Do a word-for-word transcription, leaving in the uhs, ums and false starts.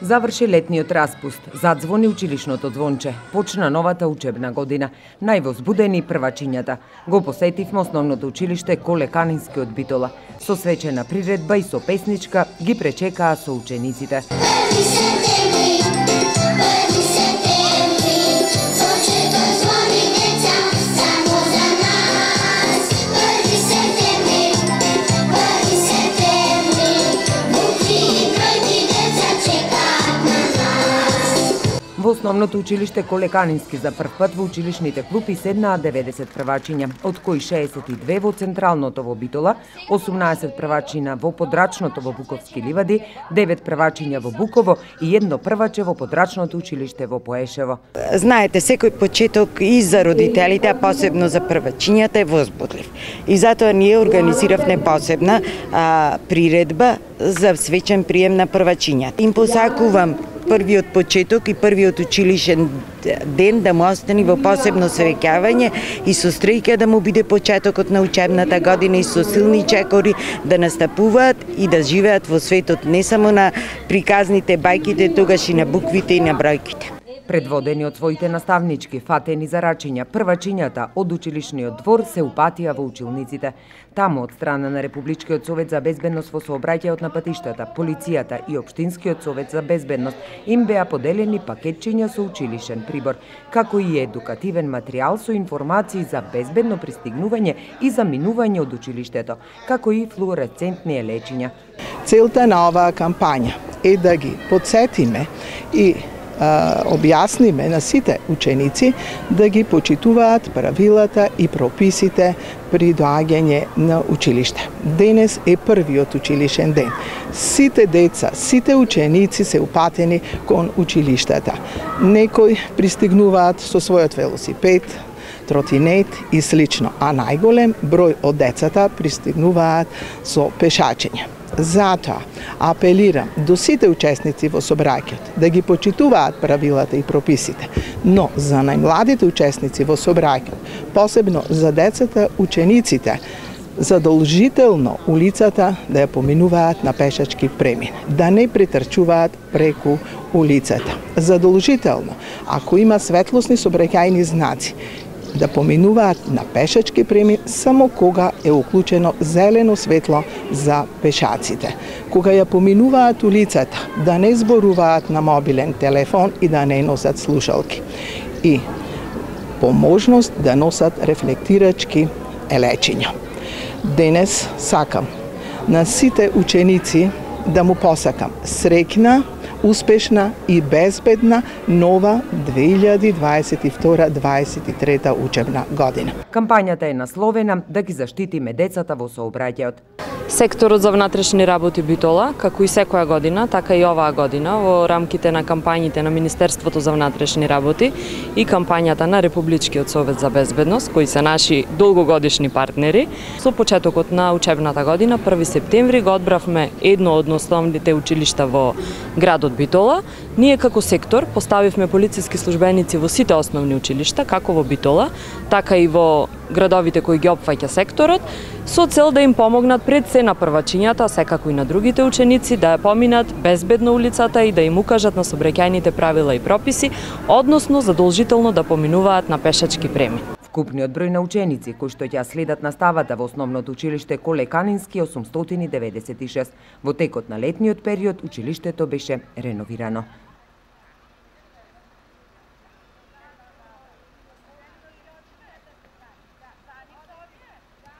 Заврши летниот распуст, задзвони училишното звонче, почна новата учебна година. Највозбудени првачињата. Го посетивме основното училиште Коле Канински од Битола. Со свечена приредба и со песничка ги пречекаа со учениците. Во основното училиште Коле Канински за прв пат во училишните клупи седнаа деветдесет првачиња, од кои шеесет и две во централното во Битола, осумнаесет првачиња во подрачното во Буковски ливади, девет првачиња во Буково и едно прваче во подрачното училиште во Поешево. Знаете, секој почеток и за родителите, а посебно за првачињата е возбудлив. И затоа ние организиравме посебна а, приредба за свечен прием на првачињата. Им посакувам првиот почеток и првиот училишен ден да му остани во посебно среќавање и со стреќа да му биде почетокот на учебната година и со силни чекори да настапуваат и да живеат во светот не само на приказните, бајките, тогаш и на буквите и на бројките. Предводени од своите наставнички фатени за рачиња, првачињата од училишниот двор се упатија во училниците. Таму од страна на Републичкиот совет за безбедност во сообраќајот на патиштата, полицијата и Општинскиот совет за безбедност им беа поделени пакетчиња со училишен прибор, како и едукативен материјал со информации за безбедно пристигнување и заминување од училиштето, како и флуоресцентни лечиња. Целта на оваа кампања е да ги потсетиме и објасниме на сите ученици да ги почитуваат правилата и прописите при доаѓање на училиште. Денес е првиот училишен ден. Сите деца, сите ученици се упатени кон училиштата. Некои пристигнуваат со својот велосипед, тротинет и слично, а најголем број од децата пристигнуваат со пешачење. Затоа апелирам до сите учесници во собраќајот да ги почитуваат правилата и прописите, но за најмладите учесници во собраќајот, посебно за децата, учениците, задолжително улицата да ја поминуваат на пешачки премин, да не претрчуваат преку улицата. Задолжително, ако има светлосни сообраќајни знаци, да поминуваат на пешачки премин само кога е уклучено зелено светло за пешаците. Кога ја поминуваат улицата, да не зборуваат на мобилен телефон и да не носат слушалки. И по можност да носат рефлектирачки елечиња. Денес сакам на сите ученици да му посакам среќна, успешна и безбедна нова две илјади дваесет и втора дваесет и трета учебна година. Кампањата е насловена да ги заштитиме децата во сообраќајот. Секторот за внатрешни работи Битола, како и секоја година, така и оваа година, во рамките на кампањите на Министерството за внатрешни работи и кампањата на Републичкиот совет за безбедност, кои се наши долгогодишни партнери, со почетокот на учебната година, први септември, го одбравме едно од основните училишта во градот Битола. Ние како сектор поставивме полициски службеници во сите основни училишта, како во Битола, така и во градовите кои ги опфаќа секторот, со цел да им помогнат пред се на првачињата, секако и на другите ученици, да ја поминат безбедно улицата и да им укажат на сообраќајните правила и прописи, односно задолжително да поминуваат на пешачки премин. Вкупниот број на ученици кои што ќе следат наставата во основното училиште Коле Канински е осумстотини деветдесет и шест. Во текот на летниот период училиштето беше реновирано.